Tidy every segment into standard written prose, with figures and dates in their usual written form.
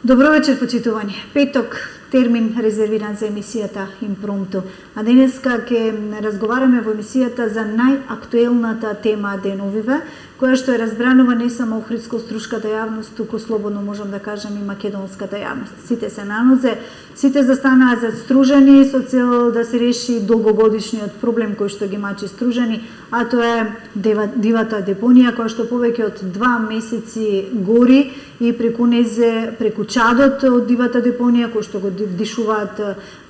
Добро вечер, почитувани. Петок, термин резервиран за емисијата Импромту. А денеска ќе разговараме во емисијата за најактуелната тема деновиве, која што е разбранува не само охридско-струшката јавност, туку слободно можам да кажам и македонската јавност. Сите се на нозе, сите застанаа застружени со цел да се реши долгогодишниот проблем кој што ги мачи Стружани, а тоа е дивата депонија која што повеќе од 2 месеци гори и преку чадот од дивата депонија кој што го вдишуваат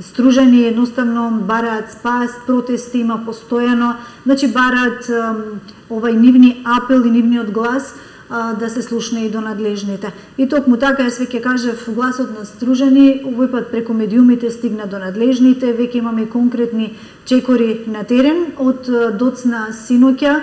Стружани, едноставно бараат спас, протести има постојано, значи бараат овај нивни апел и нивниот глас да се слушне и до надлежните. И токму така, јас веќе кажав, гласот на Стружани овој пат преку медиумите стигна до надлежните, веќе имаме конкретни чекори на терен. Од доцна синоќа,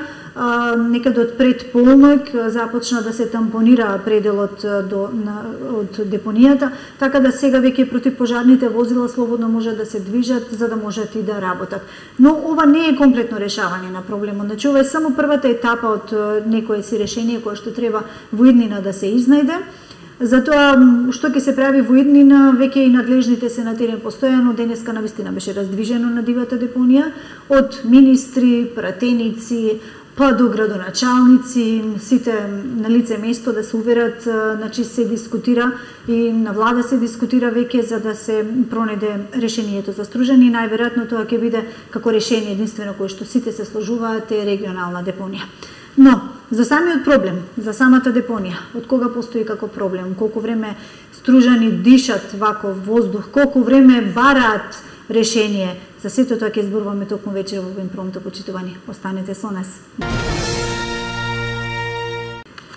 некаде од пред полноќ започна да се тампонира пределот од депонијата, така да сега веќе противпожарните возила слободно може да се движат за да можат и да работат. Но ова не е комплетно решавање на проблемот. Значи ова е само првата етапа од некое си решение кое што треба во иднина да се изнајде. Затоа што ќе се прави во иднина, веќе и надлежните се на терен постојано. Денеска навистина беше раздвижено на дивата депонија од министри, пратеници, па до градоначалници, сите на лице место да се уверат, значи се дискутира и на влада се дискутира веќе за да се пронајде решението за Стружани. Најверојатно тоа ќе биде како решение единствено кое што сите се сложуваат е регионална депонија. Но за самиот проблем, за самата депонија, од кога постои како проблем, колку време Стружани дишат ваков воздух, колку време бараат решение, за сето тоа ќе зборуваме токму вечер во Импромту, почитувани. Останете со нас.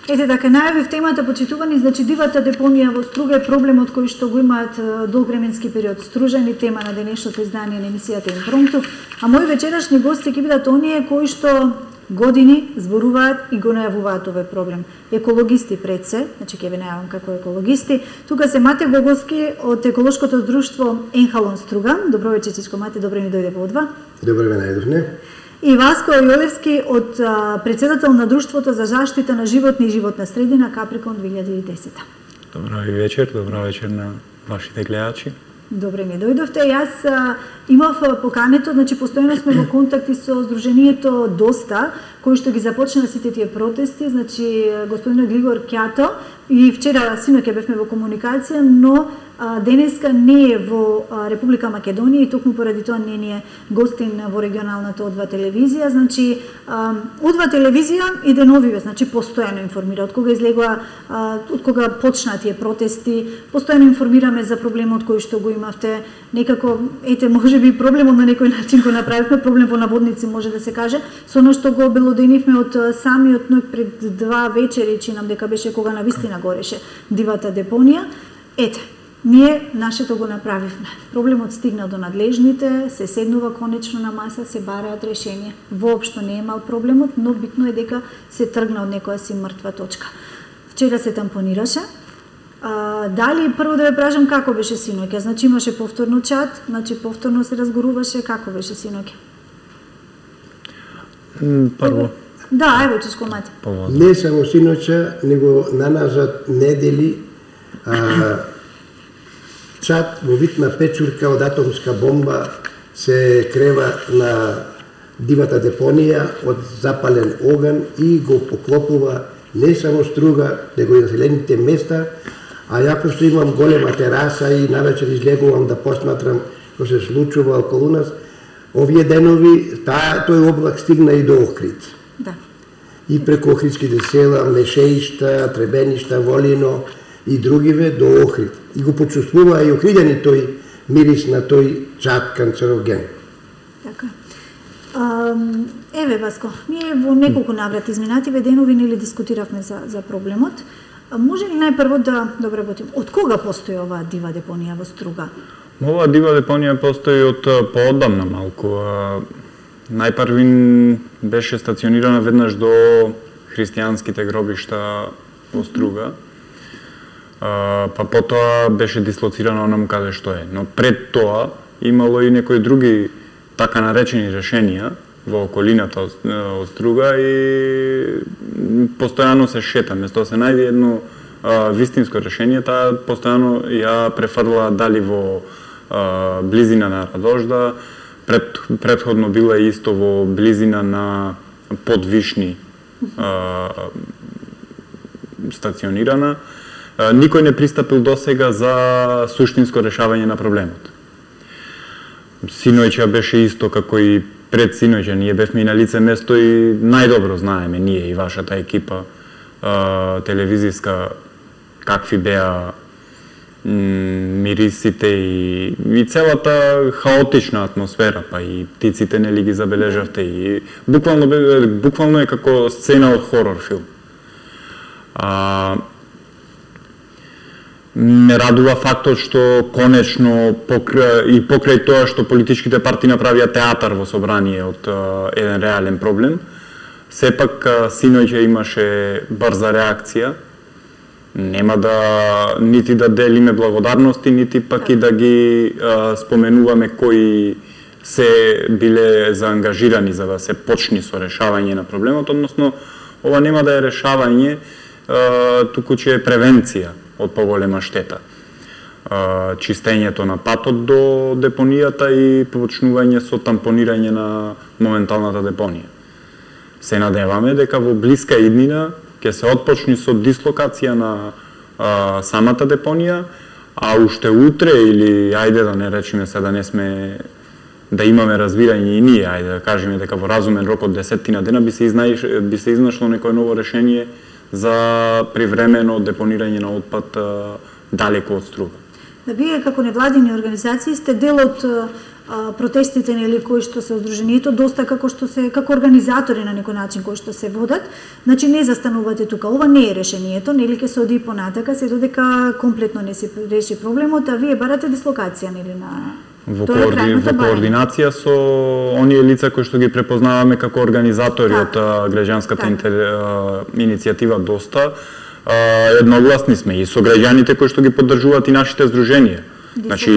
Ете така, најавив темата, почитувани, значи дивата депонија во Струга е проблемот кој што го имаат долг временски период Стружани, тема на денешното издание на емисијата Импромту, а мои вечерашни гости ќе бидат оние кои што години зборуваат и го најавуваат овој проблем. Екологисти пред се, значи ќе ви најавам како екологисти. Тука се Мате Гоговски од еколошкото друштво Енхалон Струга. Добро вечер, чичко Мате, добро ми дојде во одва. Добро ме најдовне. И Васко Јолевски од председател на Друштвото за заштита на животни и животна средина Каприкон 2010. Добро вечер на вашите гледачи. Добре ми дојдовте. Јас имав покането, значи постојано сме во контакти со Сдруженијето Доста, кој што ги започна сите тие протести, значи господинот Глигор Кјато, и вчера синоќа бевме во комуникација, но денеска не е во Република Македонија и токму поради тоа не ни е гостин во регионалната Одва телевизија. Значи Одва телевизија и деновиве, значи постојано информира од кога излегува, од кога почна тие протести, постојано информираме за проблемот кој што го имавте. Некако ете можеби проблемот на некој начин го направивме, проблем во наводници може да се каже, со оно што го обелоденивме од самиот ноќ пред 2 вечери, чинам дека беше кога навистина гореше дивата депонија. Ете, ние нашето го направивме. Проблемот стигна до надлежните, се седнува конечно на маса, се бараат решение. Воопшто не е мал проблемот, но битно е дека се тргна од некоја си мртва точка. Вчера се тампонираше. Дали прво да ве прашам како беше синоќа? Значи имаше повторно чат, значи повторно се разгоруваше, како беше синоќа? Прво. Да, ево чичко Мати. Не само синоќа, него наназад недели чат во вид на печурка од атомска бомба се крева на дивата депонија од запален оган и го поклопува не само Струга, него и населените места, а ја што имам голема тераса и навечер излегувам да посматрам што се случува околу нас, овие денови тој облак стигна и до Охрид. Да. И преку Охридските села, Мешеишта, Требеништа, Волино и другиве до Охрид. И го почувствува и охриѓани тој мирис на тој чат канцероген. Така. Еве Васко, ние во неколку наврати изминативе денови нели дискутиравме за проблемот. Може ли најпрво да обработим од кога постои оваа дива депонија во Струга? Оваа дива депонија постои од поодамна малку. Најпрвин беше стационирана веднаш до христијанските гробишта во Струга. Па потоа беше дислоцирана онаму каде што е. Но пред тоа имало и некои други така наречени решенија во околината од Струга и постојано се шета. Место се најде едно вистинско решение, таа постојано ја префрлаа дали во близина на Радожда, претходно била исто во близина на Подвишни стационирана. Никој не пристапил досега за суштинско решавање на проблемот. Синојче беше исто како и пред синојче, ние бевме и на лице место и најдобро знаеме ние и вашата екипа телевизиска какви беа мирисите и целата хаотична атмосфера, па и птиците нели ги забележавте и буквално е како сцена од хорор филм. Ме радува фактот што конечно покрај тоа што политичките партии направија театар во собрание од еден реален проблем, сепак синојќа имаше брза реакција. Нема нити да делиме благодарности, нити пак и да ги споменуваме кои се биле заангажирани за да се почни со решавање на проблемот, односно ова нема да е решавање, туку че е превенција од поголема штета. Чистењето на патот до депонијата и почнување со тампонирање на моменталната депонија. Се надеваме дека во блиска иднина ќе се отпочни со дислокација на самата депонија, а уште утре или ајде да не речеме се да имаме разбирање и ние, ајде да кажеме дека во разумен рок од 10 дена би се изнашло некое ново решение за привремено депонирање на отпад далеко од Струга. Да, вие како невладини организации сте дел од протестите нели кои што се Сдруженијето доста како организатори на некој начин кои што се водат, значи не застанувате тука. Ова не е решението, нели ќе се оди понатака се додека комплетно не се реши проблемот, а вие барате дислокација нели на во координација со оние лица кои што ги препознаваме како организатори од граѓанската иницијатива Доста, едногласни сме и со граѓаните кои што ги поддржуваат и нашите здруженија. Значи,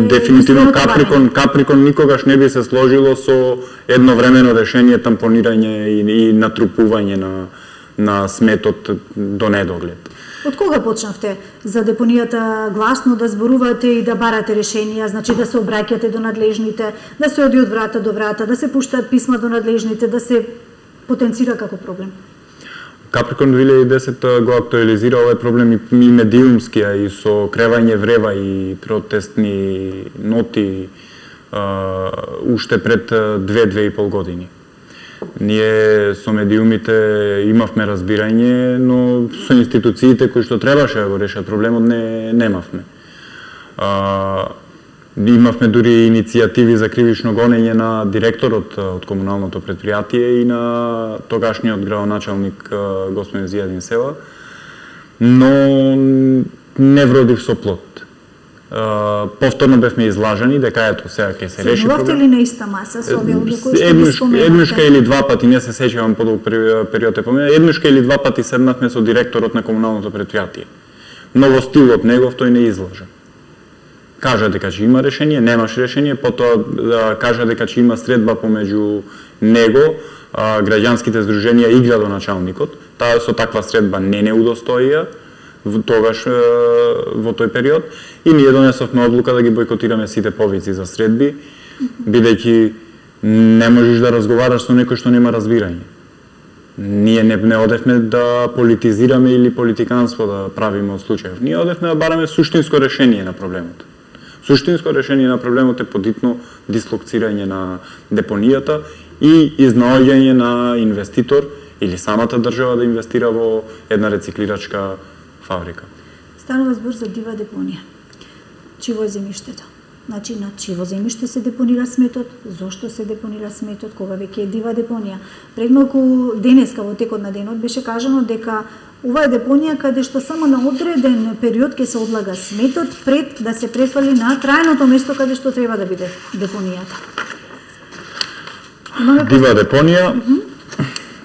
дефинитивно Каприкон никогаш не би се сложило со едновремено решение тампонирање и натрупување на сметот до недоглед. Од кога почнавте за депонијата гласно да зборувате и да барате решенија, значи да се обраќате до надлежните, да се оди од врата до врата, да се пуштаат писма до надлежните, да се потенцира како проблем? Каприкон 2010 го актуализира овој проблем и медиумскија и со кревање врева и протестни ноти уште пред 2-2,5 години. Ние со медиумите имавме разбирање, но со институциите кои што требаше да го решат проблемот немавме. Имавме дури иницијативи за кривично гонење на директорот од комуналното предпријатие и на тогашниот градоначалник господин Зијадин Села, но не вродив со плод. Повторно бевме излажани дека ето сега ќе се реши проблем. Се ли на иста маса со овие луѓе кои што ги споменавте? Еднушка или два пати, не се сеќавам подолг период е помина, еднушка или два пати седнавме со директорот на комуналното предпријатие. Но во стилот негов тој не излажа. Кажа дека ќе има решение, немаш решение, потоа кажа дека ќе има средба помеѓу него, граѓанските здруженија и градоначалникот. Таа со таква средба не удостоија тогаш во тој период и ние донесовме одлука да ги бойкотираме сите повици за средби, бидејќи не можеш да разговараш со некој што нема разбирање. Ние не одевме да политизираме или политиканство да правиме од случајов. Ние одевме да бараме суштинско решение на проблемот. Суштинско решение на проблемот е подитно дислоцирање на депонијата и изнаоѓање на инвеститор или самата држава да инвестира во една рециклирачка фабрика. Станува збор за дива депонија. Чиво е земјиштето? Значи, на чиво земјиште се депонира сметот, зошто се депонира сметот, кога веќе е дива депонија. Пред малку денеска во текот на денот беше кажано дека ова е депонија каде што само на одреден период ќе се одлага сметот пред да се префали на трајното место каде што треба да биде депонијата. Дива депонија,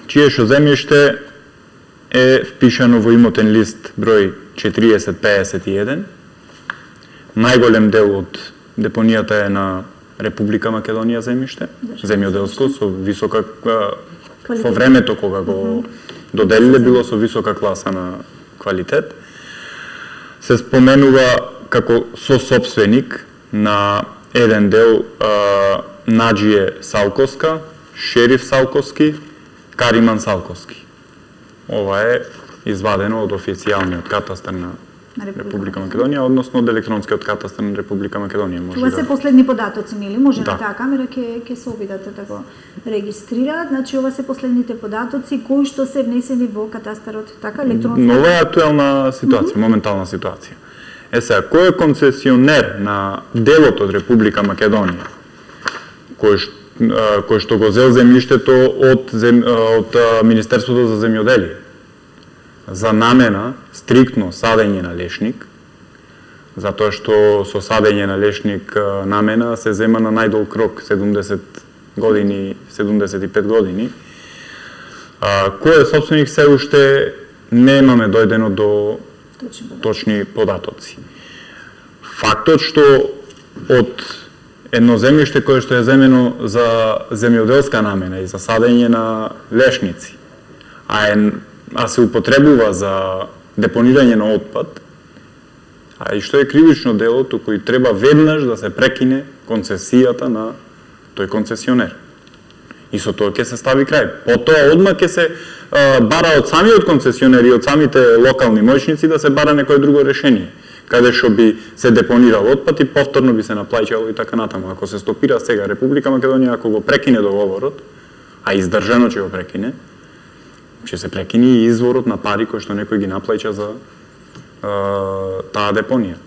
чиешо земјиште е впишано во имотен лист број 4051. Најголем дел од депонијата е на Република Македонија земјиште, земјоделско, со висока во времето кога го доделиле било со висока класа на квалитет. се споменува како сосопственик на еден дел Наџие Салковска, Шериф Салковски, Кариман Салковски. Ова е извадено од официјалниот катастар на Република Македонија, односно од електронскиот катастар на Република Македонија. Тоа се последни податоци, нели? Може на таа камера ќе се обидат да го регистрираат. Значи ова се последните податоци кои што се внесени во катастарот, така електронски. Нова е актуелна ситуација, моментална ситуација. Сега, кој е концесионер на делот од Република Македонија, кој што го зел земјиштето од Министерството за земјоделие за намена стриктно садење на лешник, затоа што со садење на лешник намена се зема на најдолг рок 70 години, 75 години. Кој е собственик се уште немаме дојдено до точни податоци. Фактот што од едно земјиште кое што е земено за земјоделска намена и за садење на лешници, а се употребува за депонирање на отпад, а и што е кривично дело, туку и треба веднаш да се прекине концесијата на тој концесионер. И со тоа ќе се стави крај. Потоа одма ќе се бара од самиот концесионер и од самите локални моќници да се бара некое друго решение, каде што би се депонирал отпад и повторно би се наплаќало и така натаму. Ако се стопира сега Република Македонија, ако го прекине договорот, а издржано ќе го прекине, ќе се прекини и изворот на пари кој што некој ги наплаќа за таа депонија.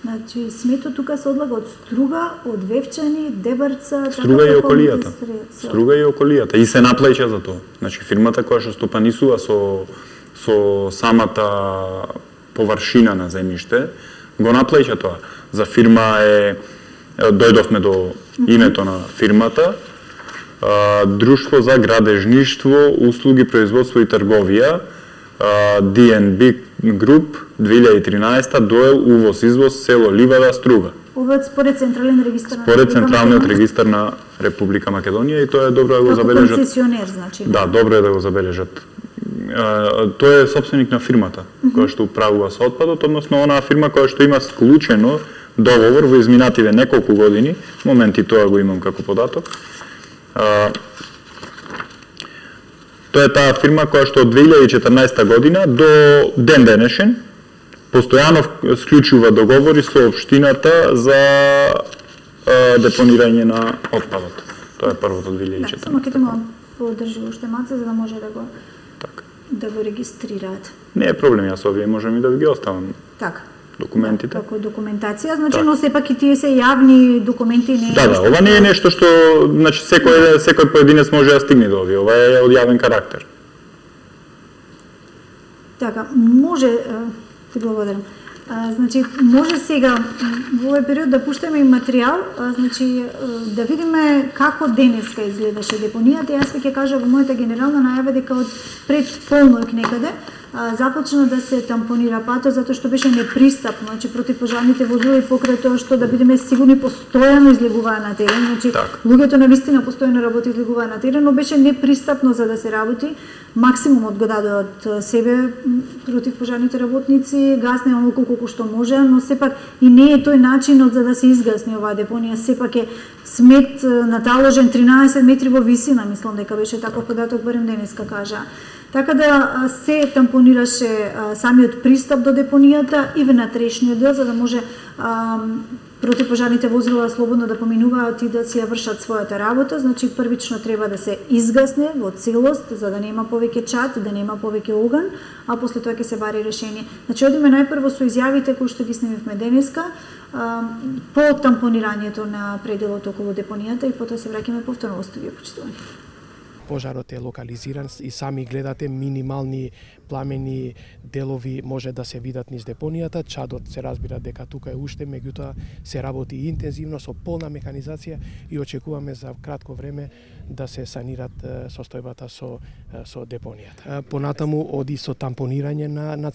Значи, смето тука се одлага од Струга, од Вевчани, Дебарца, Струга и околијата. Струга и околијата. И се наплаќа за тоа. Значи, фирмата која што стопанисува со самата површина на земјиште, го наплаќа тоа. За фирма дојдовме до името на фирмата, Друштво за градежништво, услуги, производство и трговија, DNB Group, 2013, доел увоз-извоз, село Ливада, Струга. Ова според централен регистар на Според централниот регистар на Република Македонија, и тоа е добро да го забележат. Како концесионер, значи. Да, добро е да го забележат. Тој е собственик на фирмата која што управува со отпадот, односно онаа фирма која што има склучено договор во изминативе неколку години, моменти тоа го имам како податок. Тоа е таа фирма која што од 2014 година до ден денешен постојано склучува договори со општината за депонирање на отпадот. Тоа е првото 2014. Да, само ќе те молам подржи уште малце за да може да го регистрираат. Не е проблем, јас овие можам и да ги оставам. Така. Документите. Како документација, значи, но сепак и тие се јавни документи, не е. Да, ова не е нешто што, значи, секој поединец може да стигне до овие, ова е од јавен карактер. Така, може, ти благодарам. Значи, може сега во овој период да пуштаме и материјал, значи да видиме како денеска изгледаше депонијата. Јас ќе кажа во мојата генерална најава дека од пред полноќ некаде започна да се тампонира патот затоа што беше непристапно, значи противпожарните возила и покрај тоа што да бидеме сигурни постојано излегуваа на терен, значи луѓето навистина постојано работи излегуваа на терен, но беше непристапно за да се работи. Максимумот го даде од себе противпожарните работници, гасне онолку колку што може, но сепак и не е тој начинот за да се изгасни оваа депонија, сепак е смет наталожен 13 метри во висина, мислам дека беше таков податок, барем денеска кажа. Така да се тампонираше самиот пристап до депонијата и внатрешниот дел, за да може противпожарните возила слободно да поминуваат и да си ја вршат својата работа. Значи, првично треба да се изгасне во целост, за да нема повеќе чад, да нема повеќе оган, а после тоа ќе се бари решение. Значи, одиме најпрво со изјавите кои што ги снимивме денеска, по тампонирањето на пределот околу депонијата и потоа се враќаме повторно во студио, почитувани. Пожарот е локализиран и сами гледате минимални пламени делови може да се видат низ депонијата. Чадот се разбира дека тука е уште, меѓутоа се работи интензивно со полна механизација и очекуваме за кратко време да се санират состојбата со депонијата. Понатаму оди со тампонирање на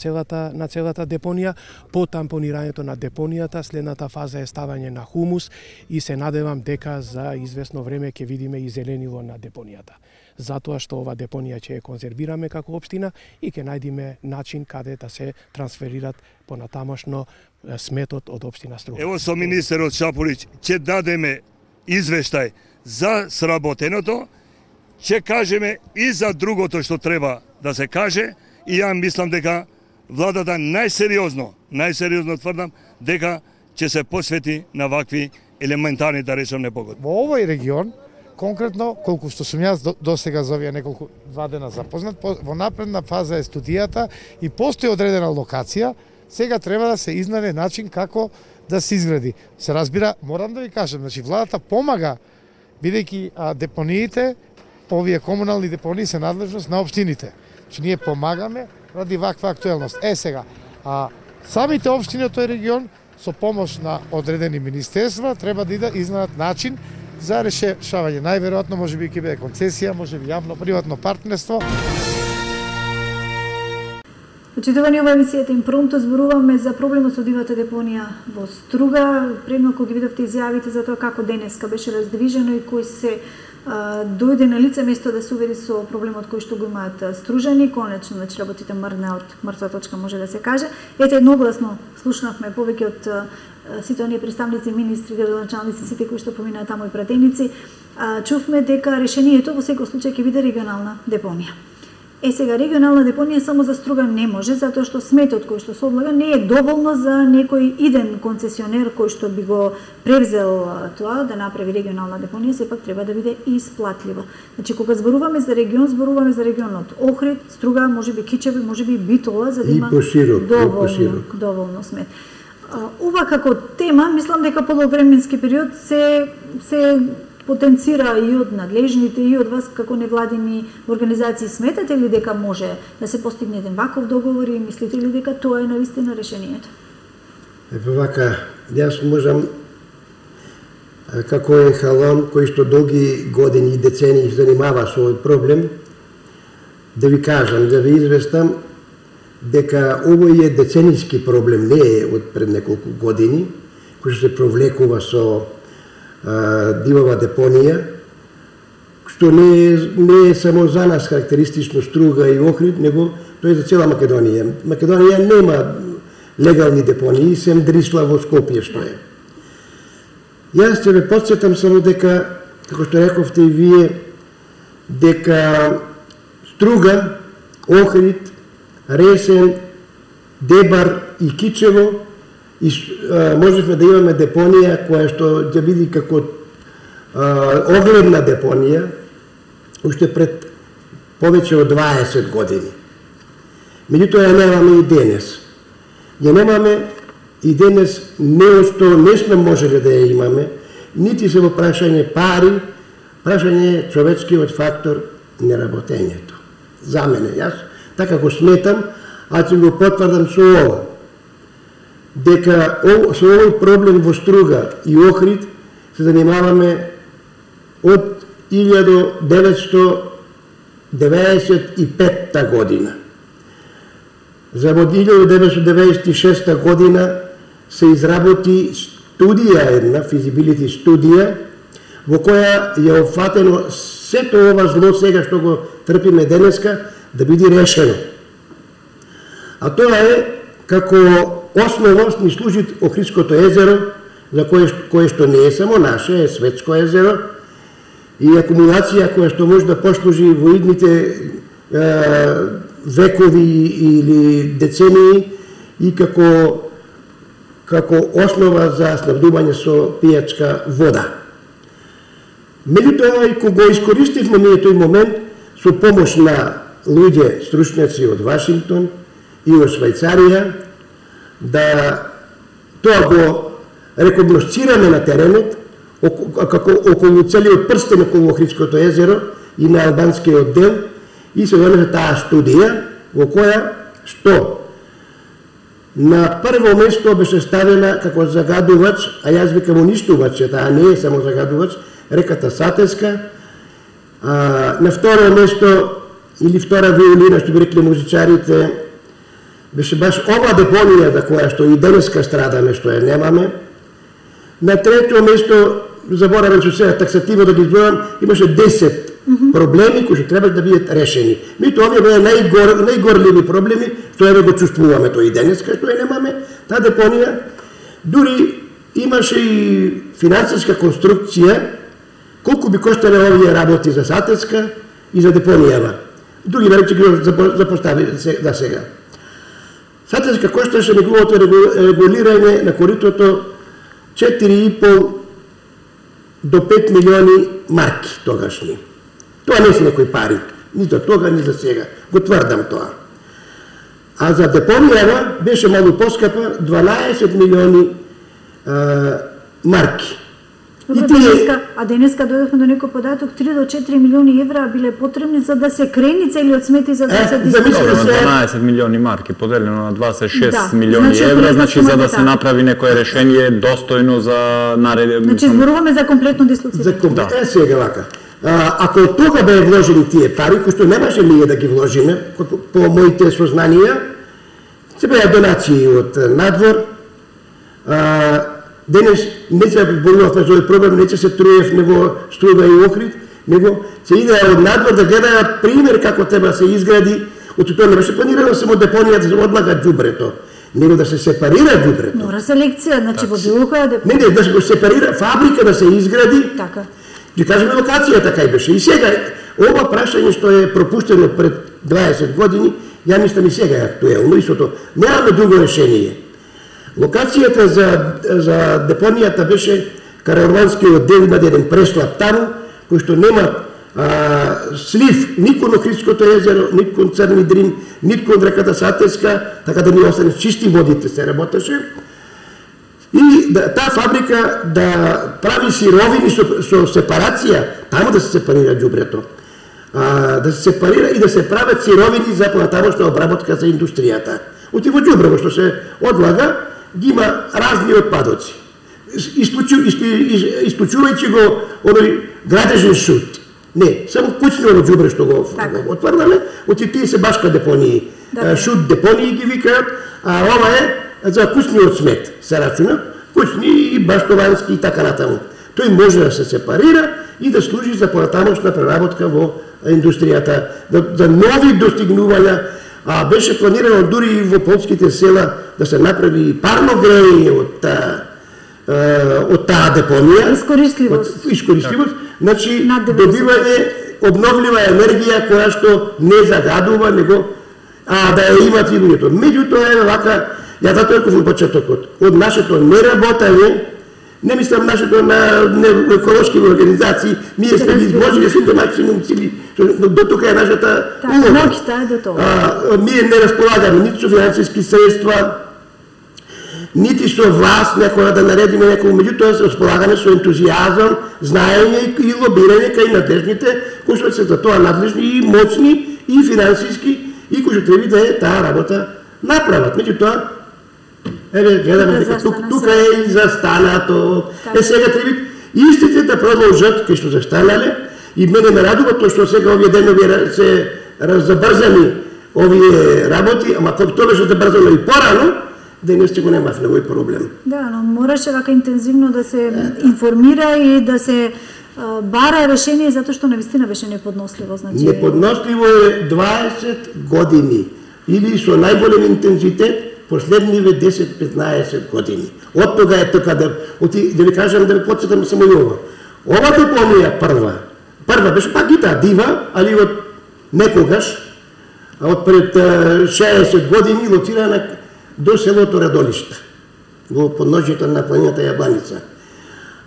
целата депонија. По тампонирањето на депонијата следната фаза е ставање на хумус и се надевам дека за известно време ќе видиме и зеленило на депонијата. затоа што ова депонија ќе ја конзервираме како општина и ќе најдеме начин каде да се трансферират понатамошно сметот од општина Струга. Ево со министерот Шапулич ќе дадеме извештај за сработеното, ќе кажеме и за другото што треба да се каже, и ја мислам дека владата најсериозно тврдам дека ќе се посвети на вакви елементарни, да речем, непогоди. Во овој регион, конкретно, колку што сум јас до сега за овие неколку 2 дена запознат, во напредна фаза е студијата и постои одредена локација, сега треба да се изнајде начин како да се изгради. Се разбира, морам да ви кажам, значи владата помага, бидејќи депониите, овие комунални депонии се надлежност на општините. Значи ние помагаме ради ваква актуелност. Сега, самите општини од тој регион со помош на одредени министерства треба да изнајдат начин за решавање. Најверојатно можеби ќе биде концесија, можеби јавно-приватно партнерство. Почитувани, ова емисијата Импромто зборуваме за проблемот со дивата депонија во Струга. Предмалку ги видовте изјавите за тоа како денеска беше раздвижено и кој се дојде на лице место да се увери со проблемот кој што го имаат стружани. Конечно, значи работите мрна од мртва точка, може да се каже. Ете, едногласно слушнавме повеќе од сите оние представници, министри, градоначалници, сите кои што поминаат таму и пратеници. Чувме дека решението во секој случај ќе биде регионална депонија. Сега, регионална депонија само за Струга не може, затоа што сметот кој што се одлага не е доволно за некој иден концесионер кој што би го превзел тоа да направи регионална депонија, сепак треба да биде исплатливо. Значи, кога зборуваме за регион, зборуваме за регионот Охрид, Струга, можеби Кичево, можеби Битола, за да има доволно смет. Ова како тема, мислам дека по временски период се потенцира и од надлежните, и од вас како невладини организации. Сметате ли дека може да се постигне еден ваков договор и мислите ли дека тоа е навистина решението? Вака, јас можам како ехалон кој што долги години и децении се занимава со овој проблем, да ви кажам, да ви известам дека овој е деценијски проблем, не е од пред неколку години, кој што се провлекува со дивова депонија, што не е само за нас карактеристично Струга и Охрид, него тоа е за цела Македонија. Македонија нема легални депонии, сем Дрисла во Скопје што е. Јас ќе ве потсетам само дека, како што рековте и вие, дека Струга, Охрид, Ресен, Дебар и Кичево можевме да имаме депонија која што ќе биде како огледна депонија уште пред повеќе од 20 години. Меѓутоа ја немаме и денес. Ја немаме и денес не што не сме можеле да ја имаме, нити се во прашање пари, прашање човечкиот фактор неработењето. За мене, јас така го сметам, а ќе го потврдам со ова, дека со овој проблем во Струга и Охрид се занимаваме од 1995 година. За во 1996 година се изработи студија една, feasibility студија, во која е опфатено сето ова зло сега што го трпиме денеска да биде решено. А тоа е како основа ни служи Охридското езеро, за кое што не е само наше, е светско езеро, и акумулација која што може да послужи во идните векови или децении и како основа за снабдување со пијачка вода. Меѓутоа, и кога го искористивме ние тој момент со помош на луѓе стручњаци од Вашингтон и од Швајцарија, да тоа го рекогносцираме на теренот, како околу целиот прстен околу Охридското езеро и на албанскиот дел, и се донесе таа студија во која што на прво место беше ставена како загадувач, а јас викам уништувач, таа не е само загадувач, реката Сатеска, на второ место или втора виолина, што би рекли музичарите, беше баш ова депонија за која што и денеска страдаме, што ја немаме. На трето место, заборавам што сега таксативно да ги зборам, имаше 10 проблеми кои што треба да бидат решени. Меѓутоа овие беа најгорливи проблеми, што еве го чувствуваме тој и денеска, што ја немаме таа депонија. Дури имаше и финансиска конструкција колку би коштале овие работи за Сатеска и за депонијава. Други речи ги запостави да сега. Сатеска кошташе неговото регулирање на коритото 4,5 до 5 милиони марки тогашни. Тоа не се некои пари, ни за тога, ни за сега. Го тврдам тоа. А за депонијава беше малку поскапа, 12 милиони марки. А денеска дојдовме до некој податок, 3 до 4 милиони евра биле потребни за да се крени целиот смет и за да се дискутира. 12 милиони марки поделено на 26 милиони евра, значи за да се направи некое решение достојно за наредба. Значи зборуваме за комплетно дислоцирање. Сега вака. Ако тога беа вложени тие пари, кои што немаше ние да ги вложиме, по моите сознанија, се беа донации од надвор, денес не се борувавме за овој проблем, не се труев, него Струга и Охрид, него се иде од надвор да гледаат пример како треба се изгради, од тоа не беше планирано само депонија да се одлага џубрето, него да се сепарира џубрето. Мора селекција, значи во било која депонија. Не, да се сепарира, фабрика да се изгради. Така. Ги кажеме локацијата кај беше. И сега ова прашање што е пропуштено пред 20 години, ја мислам и сега е актуелно, истото. Немаме друго решение. Локацијата за депонијата беше Караванскиот дел, има еден преслап таму, кој што нема слив ни кон Охридското езеро, ни кон Црни Дрин, ни кон реката Сатеска, така да ни остане чисти водите се работеше. И таа фабрика да прави сировини со сепарација, таму да се сепарира џубрето. Да се сепарира и да се прават сировини за понатамошна обработка за индустријата. Оти во џубрево што се одлага, ги има разни отпадоци. Исклучувајќи го оној градежен шут. Не, само куќно џубре што го отврдаме, оти тие се башка депонии. Шут депонии ги викаат, а ова е за куќниот смет се рачуна, куќни и баштовански и така натаму. Тој може да се сепарира и да служи за понатамошна преработка во индустријата, за нови достигнувања. Беше планирано дури и во полските села да се направи парно грејење од таа депонија. Искористливост. Значи, добивање обновлива енергија која што не загадува, него да ја имат и луѓето. Меѓутоа е вака, ја затоа реков во почетокот, од нашето неработање, не мислам нашето на еколошки организации, ние сме изложили сите максимум цели, до тука е нашата улога. Ние не располагаме нити со финансиски средства, нити со власт некоја да наредиме некој, меѓутоа се располагаме со ентузијазам, знаење и лобирање кај надлежните, кои што се за тоа надлежни и моцни и финансиски и кои што треба да е таа работа направат. Меѓутоа, еве гледаме дека тука е и застанато. Сега треба истите да продолжат кај што застанале и мене ме радува тоа што сега овие денови се забрзани овие работи, ама кога тоа беше забрзано и порано, денес го немавме овој проблем. Да, но мораше вака интензивно да се информира и да се бара решение, затоа што навистина беше неподносливо. Значи... Неподносливо е 20 години или со најголем интензитет последниве 10-15 години. Од тога е така да ви кажам, да ви подсетам само и ова. Ова депонија прва беше пак и таа дива, али од некогаш, од пред 60 години лоцирана до селото Радолишта, во подножјето на планината Јабланица.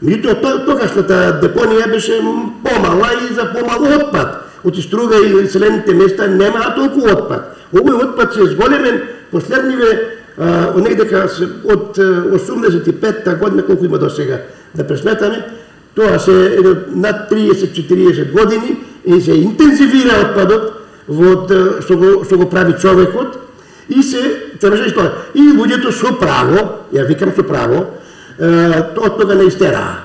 Меѓутоа, тогашната депонија беше помала и за помал отпад. Од Струга и селените места немаа толку отпад. Овој отпад се зголемен последниве, негдека од 85-та година, колку има до сега, да пресметаме, тоа се над 30-40 години и се интензивира отпадот што го прави човекот и се требаше тоа. И луѓето со право, ја викам со право, од тога не истераа.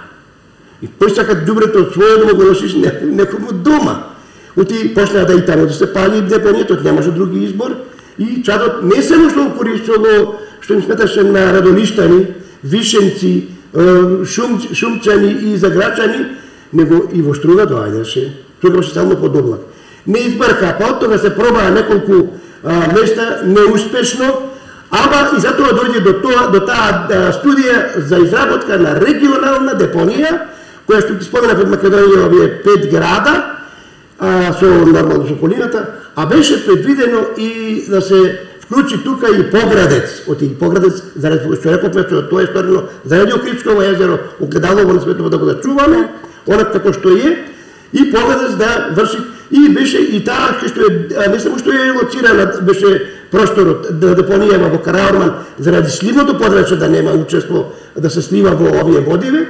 И посакат џубрето од својот да го носиш некому дома. Оти почнаа да и таму да се пали депонијата, немаше други избор. И чадот не само што го користело, што им сметаше на Радолиштани, Вишенци, Шумчани и Заграчани, него и во Струга доаѓаше Тогаш беше само под облак. Не избрка, па оттога се пробаа неколку места неуспешно, ама и затоа дојде до таа студија за изработка на регионална депонија, која што ти спомена пред Македонија овие 5 града, со нормално со околината, а беше предвидено и да се вклучи тука и Поградец, Поградец, заради што рековме, тоа е сторено заради Охридсково езеро, огледалово на светово да го зачуваме, онак како што е, и Поградец да врши, и беше и таа што е, не само што е лоцирана, беше просторот да депонијава во Караорман, заради сливното подрачје да нема учество да се слива во овие водиве,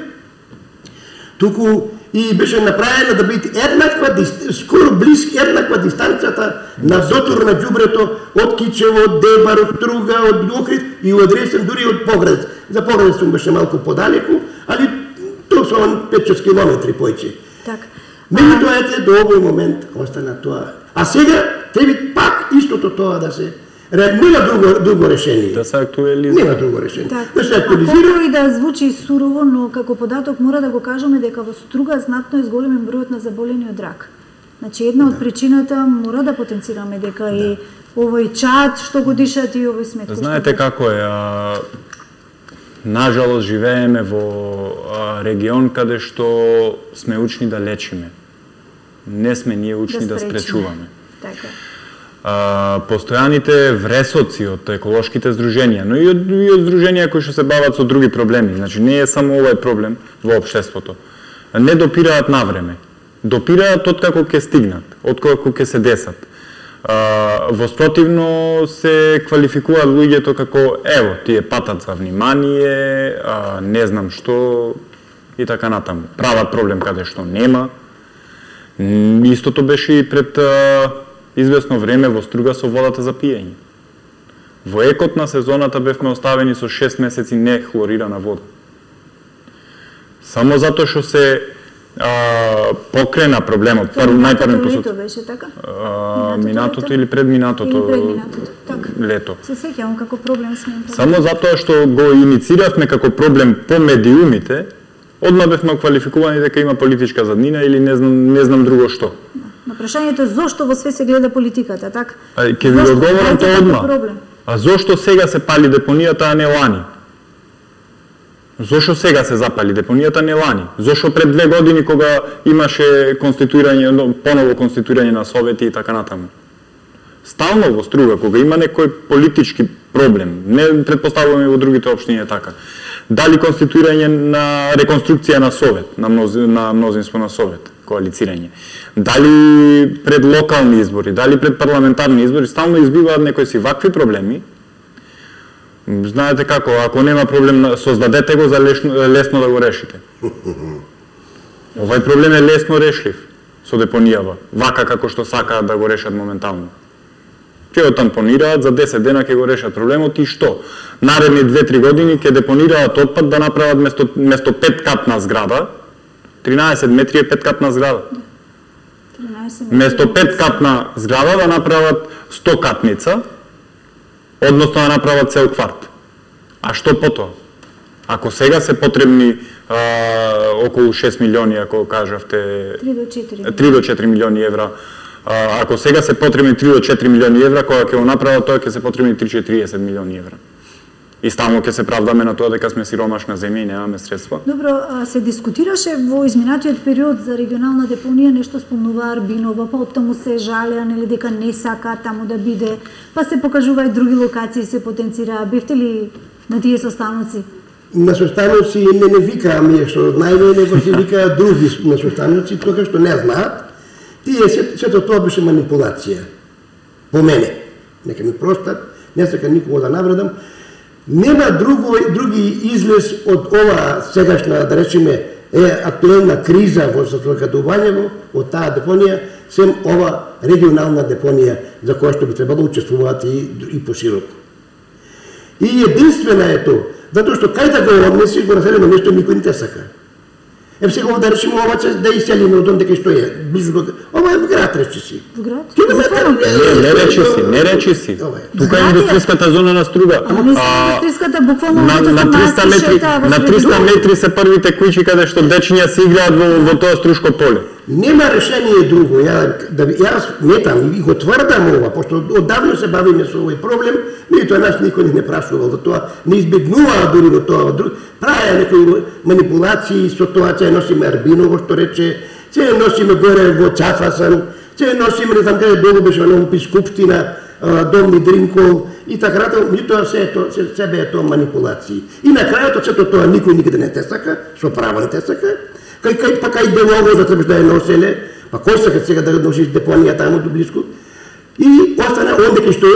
туку и беше направена да биде еднаква, скоро близки еднаква дистанцијата на дотур на ѓубрето од Кичево, од Дебар, од Струга, од Охрид и одресен дури од Поградец. За Поградец беше малку подалеку, али тоа се 5-6 километри појче. Така. Меѓутоа ете до овој момент остана тоа. А сега треба пак истото тоа да се нема друго решение. Да се актуализира. Нема друго решение. Да се актуализира. И да звучи сурово, но како податок мора да го кажеме дека во Струга знатно е зголемен бројот на заболени од рак. Значи една од причината мора да потенцираме дека и овој чад што го дишат и овој смет. Знаете како е, нажалост живееме во регион каде што сме учни да лечиме. Не сме ние учни да спречуваме. Така. Постојаните вресоци од еколошките здруженија, но и од здруженија кои што се бават со други проблеми, значи не е само овој проблем во општеството. Не допираат навреме. Допираат откако ќе стигнат, откако ќе се десат. Воспротивно се квалификуваат луѓето како ево, тие патат за внимание, не знам што и така натаму. Прават проблем каде што нема. Истото беше и пред известно време во Струга со водата за пиење. Во екот на сезоната бевме оставени со 6 месеци нехлорирана вода. Само затоа што се покрена проблемот. Најпрво лето беше така? Минатото или предминатото лето. Се сеќавам како проблем сме. Само затоа што го иницииравме како проблем по медиумите, одма бевме квалификувани дека има политичка заднина или не знам друго што. На прашањето зошто во све се гледа политиката, така? Ќе ви одговорам тоа одма. А зошто сега се пали депонијата, а не лани? Зошто сега се запали депонијата, не лани? Зошто пред 2 години кога имаше конституирање, поново конституирање на совети и така натаму? Стално во Струга, кога има некој политички проблем, не претпоставуваме во другите општини така. Дали конституирање на реконструкција на совет, на мнозинство на совет, коалицирање. Дали пред локални избори, дали пред парламентарни избори, стално избиваат некои си вакви проблеми. Знаете како, ако нема проблем, создадете го за лесно да го решите. Овај проблем е лесно решлив со депонијава, вака како што сакаат да го решат моментално. Ќе го тампонираат, за 10 дена ќе го решат проблемот и што? Наредни 2-3 години ќе депонираат отпад да направат место 5-катна зграда, 13 метри е 5-катна зграда. Место 5-катна зграда да направат 100-катница, односно да направат цел кварт. А што потоа? Ако сега се потребни околу 6 милиони, ако кажавте 3 до 4 милиони евра, ако сега се потребни 3 до 4 милиони евра, кога ќе го направат тоа ќе се потребни 30 милиони евра. И стално ќе се правдаме на тоа дека сме сиромашна земја и немаме средства. Добро, се дискутираше во изминатиот период за регионална депонија, нешто спомнува Арбинова, па оттаму се жалеа, нели дека не сака таму да биде, па се покажува и други локации се потенцираа. Бевте ли на тие состаноци? На состаноци не викаа ми, што најмене го се викаа други на состаноци, тоа што не знаат. Тие сето тоа беше манипулација. По мене. Нека ми простат, не сака никого да навредам. Нема други излез од ова сегашна, да речеме, актуелна криза во состојкадувањето од таа депонија, сем ова регионална депонија за која што би требало учествуваат и пошироко. И единствена е тоа, затоа што кај да го однеси го населено место никој не те сака. Сега да речеме ова че да иселиме од онде кај што е, близу до... Ова е во град, речи си. Во град? Не речи си. Тука е индустријската зона на Струга. Индустријската буквално на 300 метри се првите куќи каде што дечиња се играат во тоа Струшко поле. нема решение друго. Јас сметам и го тврдам ова, пошто оддавно се бавиме со овој проблем, меѓутоа нас никој не прашувал за тоа, не избегнуваа дури во тоа, правеа некои манипулации со тоа, че носиме Арбиново, што рече, че носиме горе во Чафасан, че носиме, не знам каде долу беше на Скупштина, Дом Мидринкол и така натаму, меѓутоа се беа тоа манипулации. И на крајот сето тоа никој никаде не те сака, со право не те сака. Кај Белово за требаш да ја носеле, па кој сака сега да носиш депонија таму до близко. И остана онде кај што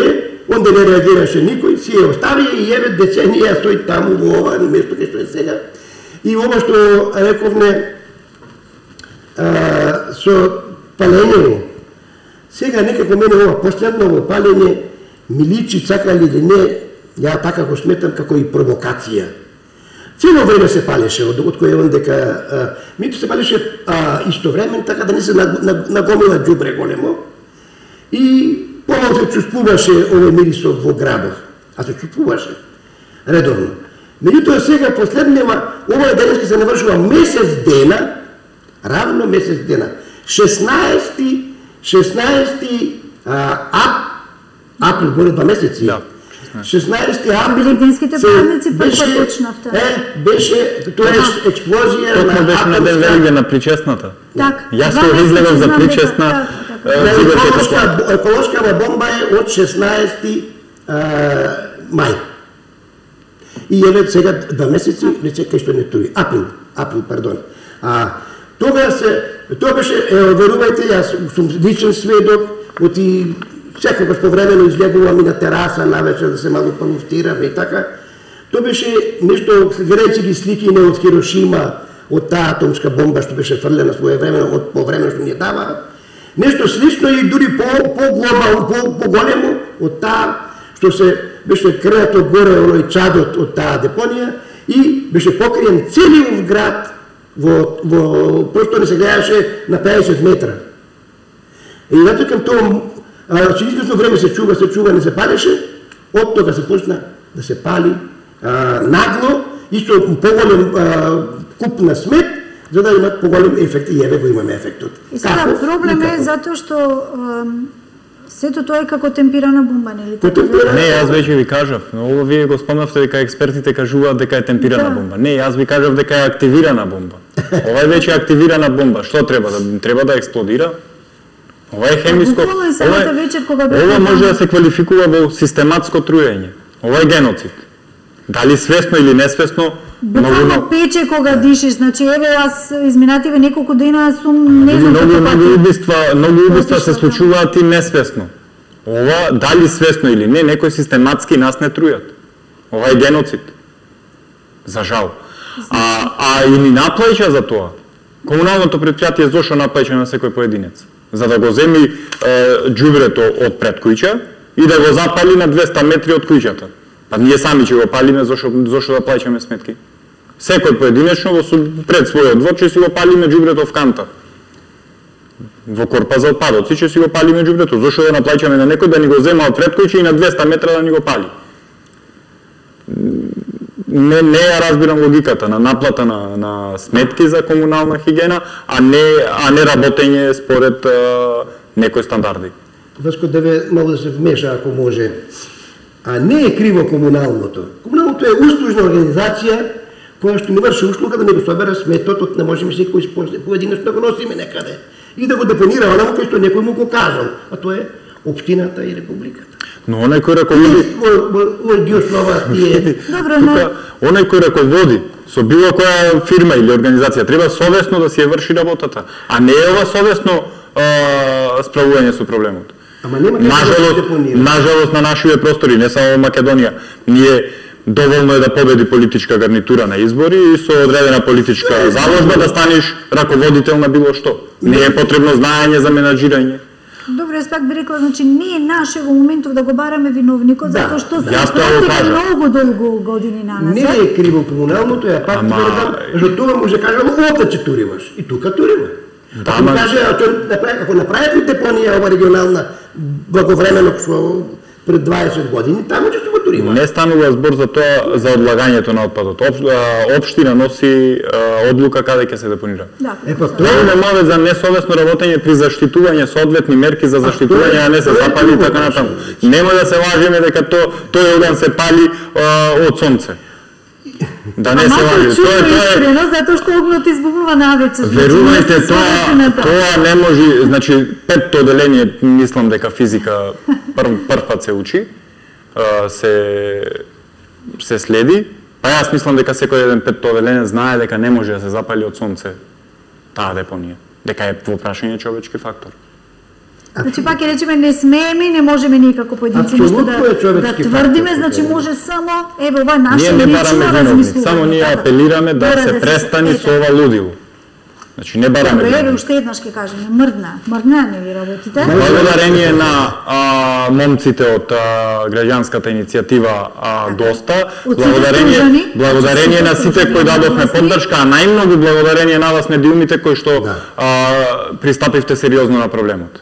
онде не реагираше никој, си ја остави и еве деценија стои таму во ова место кај што е сега. И ова што рековме со палењето, сега некако мене ова последно палење ми личи, сакали или не, ја така го сметам како и провокација. Цело време се палеше, од кој е он дека мито се палеше истовремено, така да не се нагомила ѓубре големо. И помалку се чувствуваше овој мирисот во градот, а се чувствуваше редовно. Меѓутоа сега последнема, ова денеска се навршува месец дена, равно месец дена. 16 април, горе 2 месеци. Да. 16 април. Великденските празници прва почнавте. Беше тоа експлозија на беше на ден Великден на причесната. Так. Јас се изгледам за причесна. Еколошкава бомба е од 16 мај. И еве сега 2 месеци, рече кај што не тури. Април, пардон. Тоа беше, верувајте, јас сум личен сведок, оти секогаш повремено излегувам и на тераса навечер да се малку полуфтирам и така. Тоа беше нешто, гледајќи ги слики не од Хирошима, од таа атомска бомба што беше фрлена своевремено, од повремено што ни ја дава. Нешто слично и дури по-глобално, по-големо од таа што се беше креато горе оној чадот од таа депонија и беше покриен целиот град во просто не се гледаше на 50 метра. И натоа тоа че известно време се чува, не се палеше, од тога се почна да се пали нагло и со поголем куп на смет, за да имат поголем ефект и еве го имаме ефектот. И сега проблем е затоа што сето тоа е како темпирана бомба, нели? Не, јас веќе ви кажав, но ова вие го спомнавте дека експертите кажуваат дека е темпирана бомба. Не, јас ви кажав дека е активирана бомба. Ова е веќе активирана бомба. Што треба да експлодира? Ова е хемиско. Ова може да се квалификува во систематско труење. Ова е геноцид. Дали свесно или несвесно, буквално пече кога дишиш, значи еве јас изминативе неколку дена сум не знам многу убиства се случуваат и несвесно. Ова дали свесно или не, некои систематски нас не трујат. Ова е геноцид. За жал. А и ни наплаќа за тоа. Комуналното претпријатие зошто наплаќа на секој поединец? За да го земи џубрето од пред куќа и да го запали на 200 метри од куќата. Па ние сами ќе го палиме, зошто да плаќаме сметки? Секој поединечно пред својот двор ќе си го палиме џубрето в канта. Во корпа за отпадоци ќе си го палиме џубрето. Зошто да наплаќаме на некој да ни го зема од пред куќа и на 200 метра да ни го пали? Не ја разбирам логиката на наплата на сметки за комунална хигиена, а не работење според некои стандарди. Васко, да ве малку да се вмеша, ако може. А не е криво комуналното. Комуналното е услужна организација која што не врши услуга да не го собере сметот, не можеме секој поединечно да го носиме некаде и да го депонира онаму кај што некој му го кажал, а тоа е општината и републиката. Но онај кој раководи онај кој раководи со било која фирма или организација треба совесно да си ја врши работата, а не е ова совесно справување со проблемот. Нажалост на нашите простори, не само во Македонија, ние доволно е да победи политичка гарнитура на избори и со одредена политичка заложба да станеш раководител на било што. Не е потребно знаење за менаџирање. Добро, јас пак би рекла, значи не е наше во моментов да го бараме виновникот, затоа што се пратиле многу долго години на нас. Не е криво комуналното, ја пак тврдам, за тоа може кажа овде че туриваш и тука турива. Ако ми каже, ако направите депонија ова регионална благовремено пред 20 години, таму ќе се го тури. зборува. Не станува збор за тоа, за одлагањето на отпадот. Општина носи одлука каде ќе се депонира. Да. Тоа е мовет за несовесно работење при заштитување соодветни мерки за заштитување, а не се запали и така натаму. Нема да се лажеме дека тој оган се пали од сонце. Да не се лажи. Тоа е искрено, затоа што огнот избувнува навечер. Верувајте, тоа не може, значи петто оделение, мислам дека физика прв пат се учи, се следи, па јас мислам дека секој еден петто оделение знае дека не може да се запали од сонце таа депонија, дека е во прашање човечки фактор. Значи пак ќе речеме не смееме, не можеме никако поединци нешто да тврдиме, значи може само еве ова наше лично размислување. Само ние апелираме да се престани со ова лудило. Значи не бараме. Добре, уште еднаш ќе кажеме, мрдна не ви работите. Благодарение на момците од граѓанската иницијатива Доста, благодарение на сите кои дадовме поддршка, а најмногу благодарение на вас медиумите кои што пристапивте сериозно на проблемот.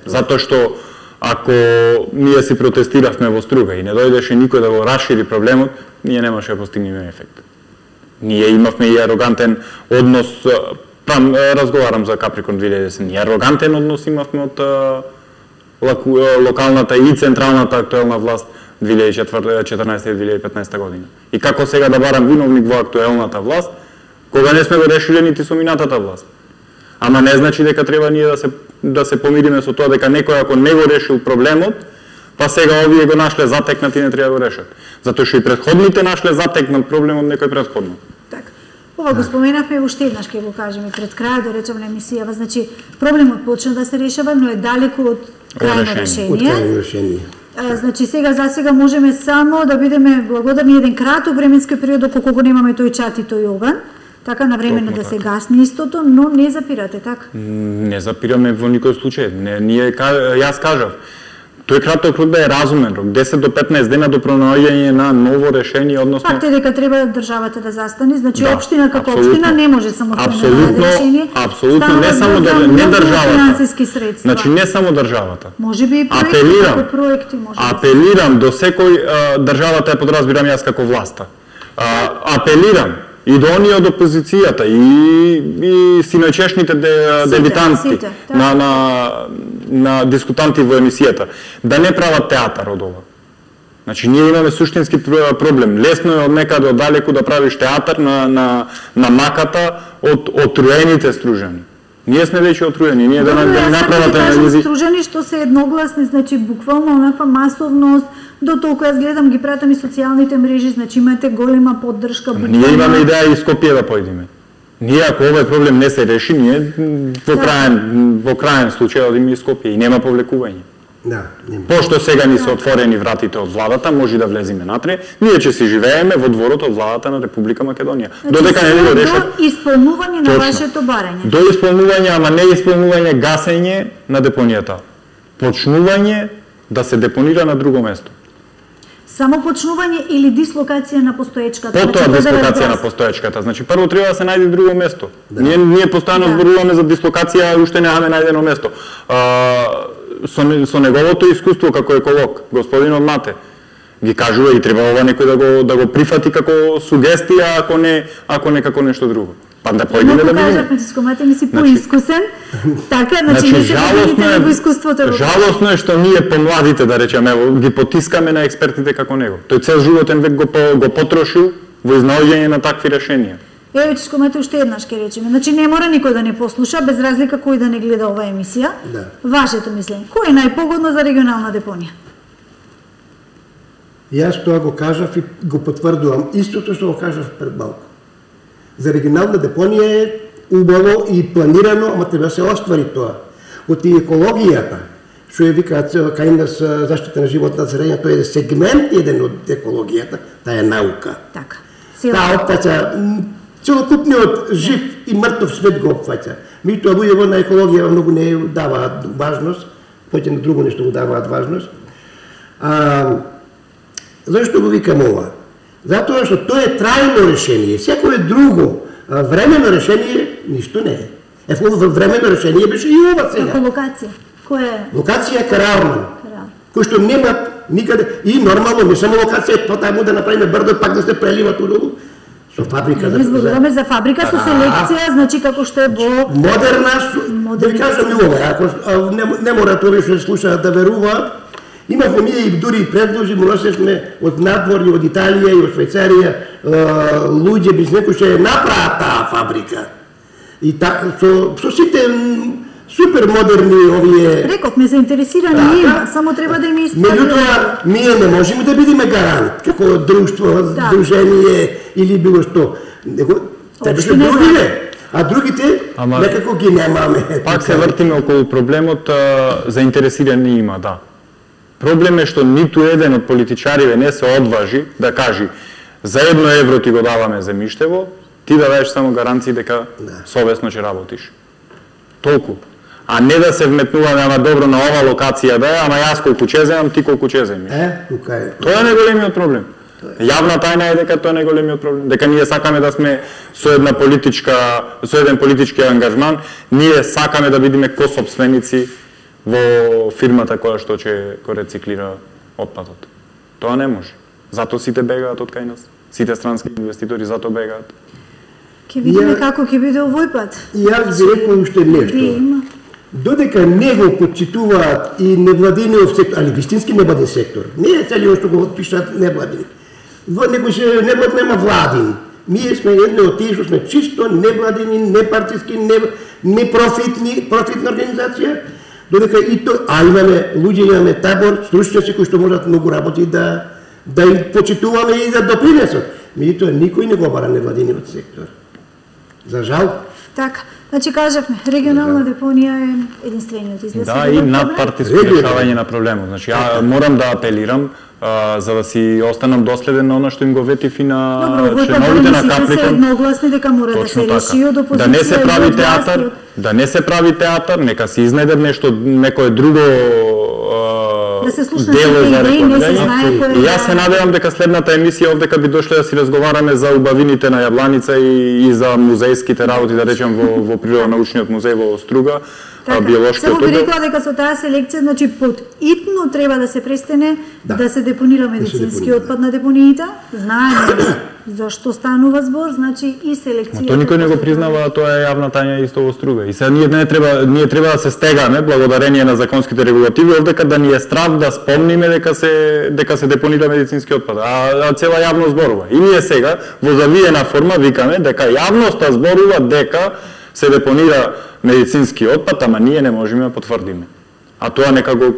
Затоа што ако ние си протестиравме во Струга и не дојдеше никој да го расшири проблемот, ние немаше да постигнеме ефект. Ние имавме и арогантен однос, разговарам за Каприкорн 2010, и арогантен однос имавме од локалната и централната актуелна власт 2014-2015 година. И како сега да барам виновник во актуелната власт, кога не сме го решиле нити со минатата власт. Ама не значи дека треба ние да се помириме со тоа дека некој ако не го решил проблемот, па сега овие го нашле затекнат и не треба да го решат. Затоа што и претходните нашле затекнат проблемот некој претходно. Така. Ова го споменавме уште еднаш ќе го кажеме пред крај да речеме на емисијава, значи проблемот почна да се решава, но е далеку од крајно решение. Значи сега можеме само да бидеме благодарни еден краток временски период доколку го немаме тој чат и тој оган. Така навремено да се гасни истото, но не запирате, така? Не запираме во никој случај. Јас кажав, тој краток рок да е разумен рок, 10 до 15 дена до пронаоѓање на ново решение, односно... Факт е дека треба државата да застане, значи општина како општина не може самостојно да решение. Апсолутно, не само не државата. Значи не само државата. Може би и проекти може. Апелирам до секој, државата е подразбирам јас како власта. Апелирам и до оние од опозицијата и синоќешните дебитанти на дискутанти во емисијата да не прават театар од ова. Значи ние имаме суштински проблем. Лесно е од некаде оддалеку да правиш театар на маката од отруените стружани. Ние сме веќе отруени, ние да направат анализи. Стружани што се едногласни, значи буквално онаква масовност. До толку јас гледам, ги пратам и социјалните мрежи, значи имате голема поддршка. Ние имаме идеја и Скопје да појдеме. Ние ако овој проблем не се реши, ние во крајен случај одиме и Скопје и нема повлекување. Да, нема. Пошто сега ни се отворени вратите од владата, може да влеземе натре, ние ќе си живееме во дворот од владата на Република Македонија. Додека не го решат. До исполнување на вашето барање. До исполнување, ама не исполнување, гасење на депонијата. Почнување да се депонира на друго место. Само почнување или дислокација на постоечката? Потоа дислокација на постоечката. Значи прво треба да се најде друго место. Да. Ние постојано зборуваме за дислокација, а уште немаме најдено место. Со неговото искуство како еколог, господинот Мате, ги кажува и треба ова некој да го прифати како сугестија, ако не како нешто друго. Па да појдеме да видиме. Франциско Мате ми си поискусен. Така, значи не се поделите него искуството. Жалосно е што ние помладите, да речеме, ги потискаме на експертите како него. Тој цел животен век го потрошил во изнаоѓање на такви решенија. Еве Франциско Мате уште еднаш ќе речеме. Значи не мора никој да не послуша, без разлика кој да не гледа оваа емисија. Да. Вашето мислење. Кој е најпогодно за регионална депонија? Јас тоа го кажав и го потврдувам. Истото што го кажав пред малку. За регионална депонија е убаво и планирано, ама треба да се оствари тоа. Од екологијата, што ја викаат кај нас заштита на животната средина, тој е сегмент еден од екологијата, таа е наука. Така. Таа опфаќа целокупниот жив и мртов свет го опфаќа. Меѓутоа луѓето на екологија многу не даваат важност, поќе на друго нешто го даваат важност. Зашто го викам ова? Затоа што тоа е трајно решение. Секое друго времено решение ништо не е. Времено решение беше и ова сега. Како локација? Која е? Локација Караурман. Кој што нема никаде. И нормално, не само локација, потаму да направиме брдо, пак да се прелива тудолу. Со фабрика Не зборуваме за фабрика со селекција, значи како што е во модерна, да ви кажам и ова, ако не мора тоа што слушаат да веруваат, имавме ние и дури предложи, му носевме од надвор и од Италија и од Швајцарија луѓе без некој што ја направа таа фабрика. И така, со сите супер модерни овие... Рековме, заинтересирани има, само треба да им исправи. Меѓутоа, ние не можеме да бидеме гарант, како друштво, здружение или било што. Требаше другите, а другите некако ги немаме. Пак се вртиме околу проблемот, заинтересирани има, да. Проблем е што ниту еден од политичариве не се одважи да кажи за 1 евро ти го даваме земјиштево, ти да даеш само гаранции дека совесно ќе работиш. Толку. А не да се вметнуваме, ама добро на ова локација да е, ама јас колку ќе земам, ти колку ќе земиш. Тука е. Тоа е најголемиот проблем. Јавна тајна е дека тоа е најголемиот проблем. Дека ние сакаме да сме со еден политички ангажман, ние сакаме да бидеме косопственици во фирмата која што ќе го рециклира отпадот. Тоа не може. Зато сите бегаат од кај нас. Сите странски инвеститори зато бегаат. Ке видиме како ќе биде овој пат. И јас би рекол уште нешто. Додека не го почитуваат и невладиниот сектор, али вистински невладин сектор, не е целиот што го пишат невладин. Некој се невладин нема владин. Ние сме едни од тие што сме чисто невладини, непартиски, профитна организација, додека и тоа, а имаме луѓе, имаме табор, стручњаци кои што можат многу работи да им почитуваме и да допринесат. Меѓутоа никој не го бара невладиниот сектор. За жал. Така, значи кажавме, регионална депонија е единствениот излез. Да, и надпартиско решавање на проблемот. Значи, ја морам да апелирам за да си останам доследен на она што им го ветив и на членовите на Капликон. Се едногласни дека мора да се реши од опозиција. Да не се прави театар, нека се изнајде нешто, некое друго да се слушна дело за рекламирање. И јас се надевам дека следната емисија овдека би дошле да си разговараме за убавините на Јабланица и за музејските работи, да речем во природонаучниот музеј во Струга, биолошкиот одел. Само би рекла дека со таа селекција, значи итно треба да се престане да се депонира медицински отпад на депониите. Знаеме за што станува збор, значи и селекција. Тоа никој не го признава, тоа е јавна тајна исто во Струга. И сега ние треба да се стегаме благодарение на законските регулативи овдека да ни е страв да спомниме дека се депонира медицински отпад. А цела јавност зборува. И ние сега во завиена форма викаме дека јавноста зборува дека се депонира медицински отпад, ама ние не можеме да потврдиме. А тоа нека го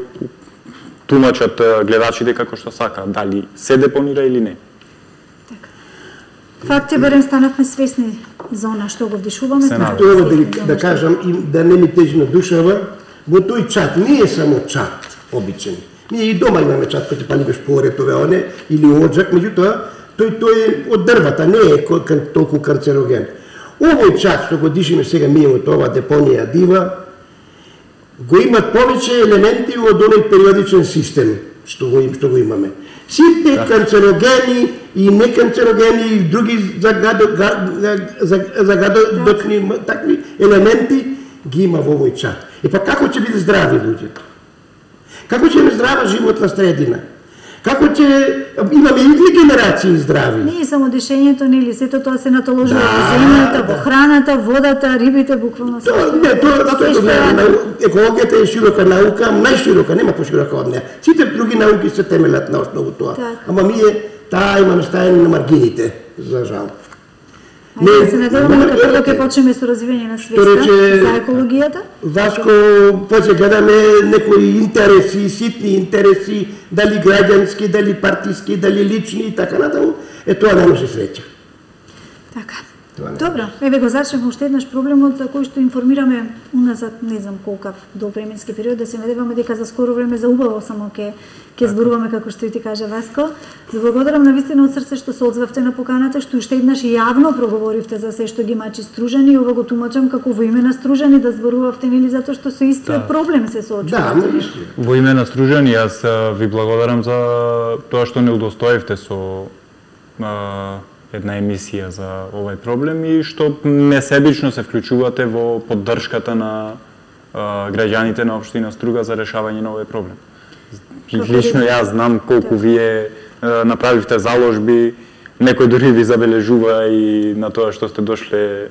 тумачат гледачите како што сакаат, дали се депонира или не. Факт е, барем станавме свесни за она што го вдишуваме. Тоа да кажам и да не ми тежи на душава, во тој чат не е само чат обичен. Ние и дома имаме чат кој ти палибеш поретове, оне, или оджак, меѓутоа, тој е од дрвата, не е толку канцероген. Овој чат што го дишиме сега ние од ова депонија дива, го имат повеќе елементи од оној периодичен систем што го имаме. Сите канцерогени и неканцерогени и други загадочни такви елементи ги има во овој чат. И па како ќе биде здрави луѓето? Како ќе биде здрава животна средина? Како ќе имаме и генерации здрави? Не е само дишењето, нели, сето тоа се натоложува во земјата, во храната, водата, рибите, буквално се. Екологијата е широка наука, најширока, нема поширока од неа. Сите други науки се темелат на основу тоа. Ама ние таа имаме ставени на маргините, за жал. Не се надеваме како ќе почнеме со развивање на свеста за екологијата. Васко, после гледаме некои интереси, ситни интереси, дали граѓански, дали партиски, дали лични и така натаму, тоа не може среќа. Така. Добро, еве го зачнеме уште еднаш проблемот за кој што информираме уназад, не знам колкав до временски период, да се надеваме дека за скоро време за убаво само ќе зборуваме како што и ти кажа Васко. Ви благодарам навистина од срце што се одзвавте на поканата, што уште еднаш јавно проговоривте за се што ги мачи Стружани и ова го тумачам како во име на Стружани да зборувавте нели затоа што со истиот проблем се соочувате. Да, во име на Стружани јас ви благодарам за тоа што не удостоевте со една емисија за овој проблем и што несебично се вклучувате во поддршката на граѓаните на општина Струга за решавање на овој проблем. Лично јас знам колку вие направивте заложби, некој дури ви забележува и на тоа што сте дошле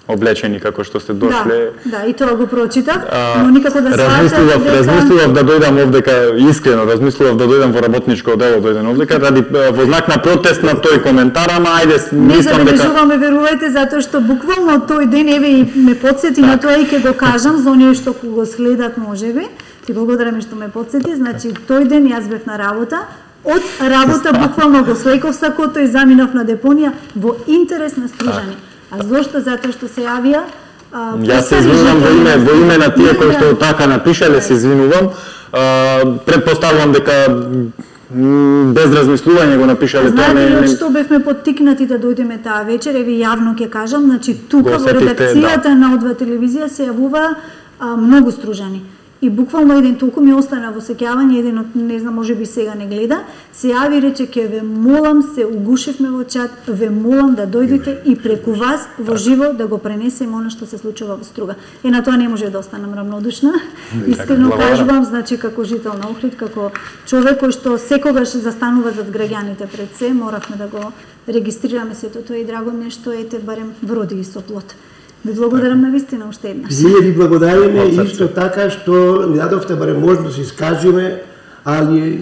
облечени како што сте дошле. Да, и тоа го прочитав, но никако да сватам размислував да дојдам овдека, искрено размислував да дојдам во работничко дело, дојдам овдека ради во знак на протест на тој коментар, ама ајде не забележуваме, верувајте, затоа што буквално тој ден еве и ме потсети на тоа и ќе го кажам за оние што го следат можеби. Ти благодарам што ме потсети, значи тој ден јас бев на работа. Од работа буквално го слеков сакото и заминав на депонија во интерес на стружани. А зошто? Затоа што се јавија Јас се извинувам во име на тие кои што така напишале, се извинувам. Претпоставувам дека без размислување го напишале тоа. Знаете што бевме поттикнати да дојдеме таа вечер, еве јавно ќе кажам, значи тука во редакцијата на О2 телевизија се јавува многу стружани. И буквално еден толку ми остана во сеќавање, еден од, не знам, може би сега не гледа, се јави и рече, ке ве молам, се угушевме во чат, ве молам да дојдете и преку вас во живо да го пренесеме она што се случува во Струга. И на тоа не може да останам равнодушна. Искрено кажувам, значи како жител на Охрид, како човек кој што секогаш застанува зад граѓаните пред се, моравме да го регистрираме сето тоа и драго ми е што ете барем вроди и со плод. Ви благодарам на вистина уште еднаш. Ние ви благодариме исто така што ни дадовте барем можност да се искажеме, али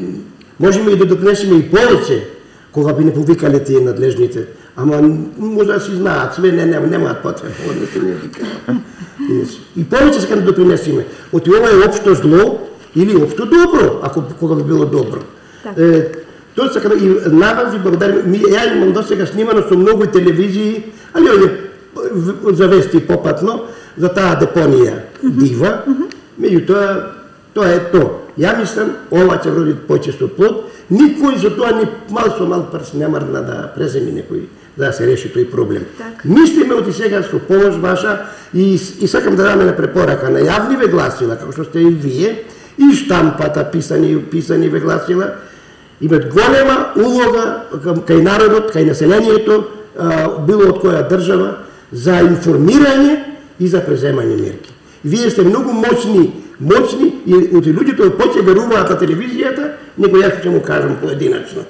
можеме и да допринесеме и повеќе кога би не повикале тие надлежните. Ама може да си знаат, све немаат потреба, односно не викаат. И повеќе се да допринесеме. Оти ова е општо зло или општо добро, ако кога би било добро. Тоа сакам и на вас ви благодарам. Ја имам досега снимано со многу телевизии, али овие завести попатно за таа депонија дива, меѓутоа тоа е тоа. Ја мислам, ова ќе вроди почесто плод, никој за тоа ни мал со мал прст не мрдна да преземи некој да се реши тој проблем. Мислиме од сега со помош ваша и сакам да даме на препорака на јавни гласила, како што сте и вие, и штампата писани гласила, имат голема улога кај народот, кај населението, било од која држава, за информирање и за преземање мерки. Вие сте многу моćни и од луѓето повеќе веруваат на телевизијата, него јас ќе му кажам поединачно.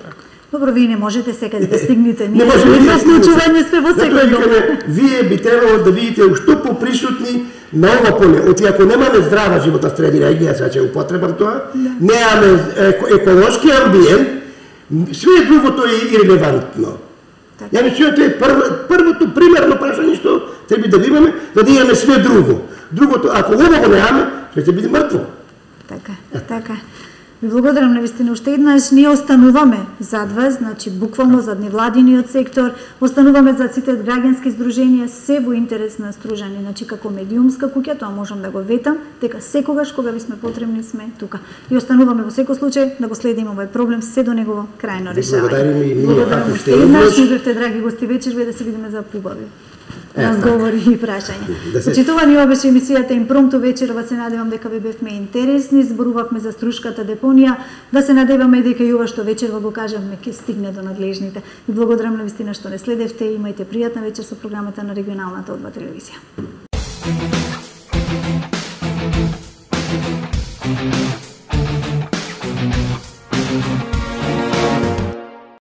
Добро, вие не можете секаде да стигнете. Ние сме вклучување сме во секој дом. Вие би требало да видите уште поприсутни на ова поле. Оти ако немаме здрава животна средина, ја сега ќе употребам тоа, немаме еколошки амбиент, све другото е ирелевантно. Ја мислам, тоа е првото примерно прашање што треба да имаме, да имаме све друго. Другото, ако ова го немаме, ќе биде мртво. Така. Ви благодарам навистина уште еднаш. Ние остануваме зад вас, значи буквално зад невладиниот сектор, остануваме зад сите граѓански здруженија, се во интерес на стружани, значи како медиумска куќа, тоа можам да го ветам, дека секогаш кога ви сме потребни сме тука. И остануваме во секој случај да го следиме овој проблем се до негово крајно решавање. Благодарам уште еднаш, ни бевте драги гости вечерве, да се видиме за побави разговори и прашања. Почитувани, ова беше емисијата Импромту вечерва, се надевам дека ви бевме интересни, зборувавме за Струшката депонија, да се надеваме дека и ова што вечерва го кажавме ќе стигне до надлежните. И благодарам навистина што не следевте, имајте пријатна вечер со програмата на регионалната О2 телевизија.